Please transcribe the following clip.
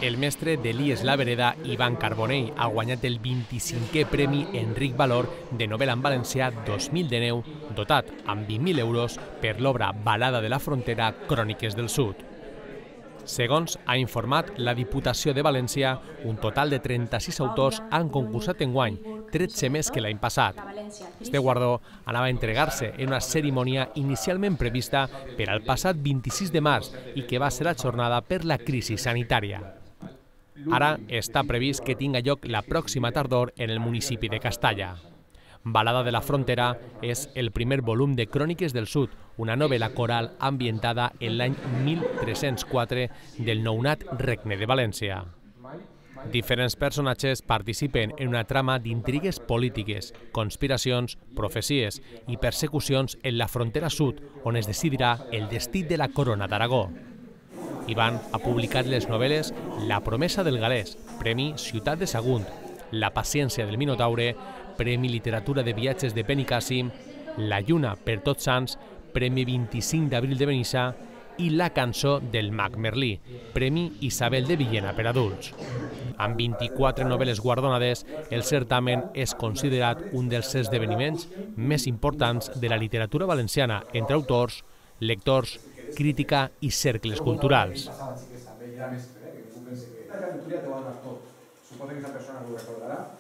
El mestre d'Elies La Vereda, Ivan Carbonell, ha guanyat el 25è Premi Enric Valor de novel·la en valencià 2019, dotat amb 20.000 euros per l'obra Balada de la Frontera, Cròniques del Sud. Segons ha informat la Diputació de València, un total de 36 autors han concursat enguany, 13 més que l'any passat. Este guardó anava a entregar-se en una cerimònia inicialment prevista per al passat 26 de març i que va ser ajornada per la crisi sanitària. Ara està previst que tinga lloc la pròxima tardor en el municipi de Castalla. Balada de la Frontera és el primer volum de Cròniques del Sud, una novel·la coral ambientada en l'any 1304 del nounat Regne de València. Diferents personatges participen en una trama d'intrigues polítiques, conspiracions, profecies i persecucions en la frontera sud, on es decidirà el destí de la corona d'Aragó. Ivan ha publicat les novel·les La promesa del galès, Premi Ciutat de Sagunt, La paciència del Minotaure, Premi Literatura de Viatges de Benicàssim, La lluna per Tots Sants, Premi 25 d'abril de Benissa i La cançó del mag Merlí, Premi Isabel de Villena per adults. Amb 24 novel·les guardonades, el certamen és considerat un dels esdeveniments més importants de la literatura valenciana entre autors, lectors, crítica i cercles culturals. Suposo que aquesta persona ho recordarà.